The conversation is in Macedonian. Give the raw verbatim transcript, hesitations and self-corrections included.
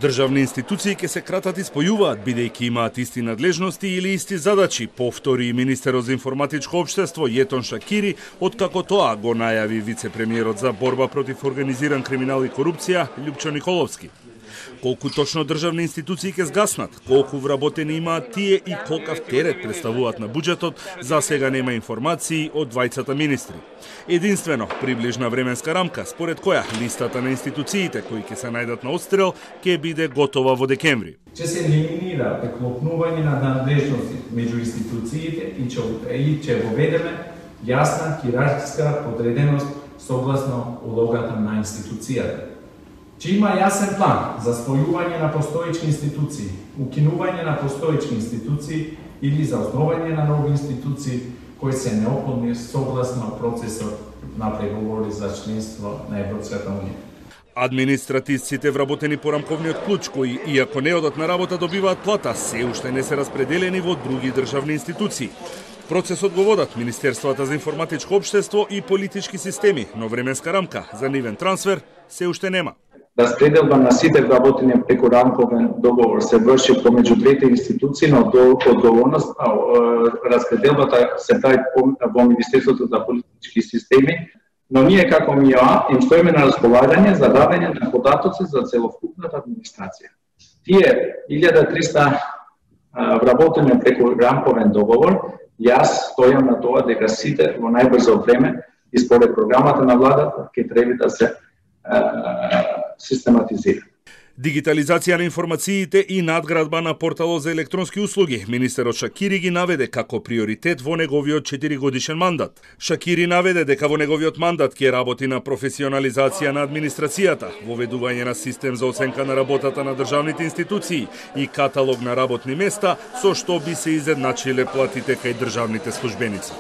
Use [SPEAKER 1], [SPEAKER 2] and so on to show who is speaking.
[SPEAKER 1] Државни институции ќе се кратат и спојуваат, бидејќи имаат исти надлежности или исти задачи, повтори и министерот за информатичко општество Јетон Шакири, откако тоа го најави вице-премиерот за борба против организиран криминал и корупција Љупчо Николовски. Колку точно државни институции ќе згаснат, колку вработени имаат тие и колкав терет представуваат на буџетот, за сега нема информации од двајцата министри. Единствено, приближна временска рамка, според која листата на институциите кои ќе се најдат на отстрел, ќе биде готова во декември.
[SPEAKER 2] Ќе се елиминира преклопнување на надлежности меѓу институциите и ќе воведеме јасна хиерархиска подреденост согласно улогата на институцијата. Че има јасен план за спојување на постоечки институции, укинување на постоечки институции или за основање на нови институции кои се неопходни согласно процесот на преговори за членство на Европската унија.
[SPEAKER 1] Административците вработени по рамковниот клуч, кои, иако не одат на работа, добиваат плата, се уште не се распределени во други државни институции. Процесот го водат Министерствата за информатичко општество и политички системи, но временска рамка за нивен трансфер се уште нема.
[SPEAKER 3] Распределба на сите вработени преку рамковен договор се врши помеѓу двете институции, но одговорност распределбата се прави во Министерството за политички системи, но ние како МИОА им стоиме на располагање за давање на податоци за целокупната администрација. Тие илјада и триста вработени преку рамковен договор, јас стојам на тоа дека сите во најбрзо време и според програмата на владата ќе треба да се систематизира.
[SPEAKER 1] Дигитализација на информациите и надградба на порталот за електронски услуги. Министерот Шакири ги наведе како приоритет во неговиот четиригодишен мандат. Шакири наведе дека во неговиот мандат ќе работи на професионализација на администрацијата, воведување на систем за оценка на работата на државните институции и каталог на работни места, со што би се изедначиле платите кај државните службеници.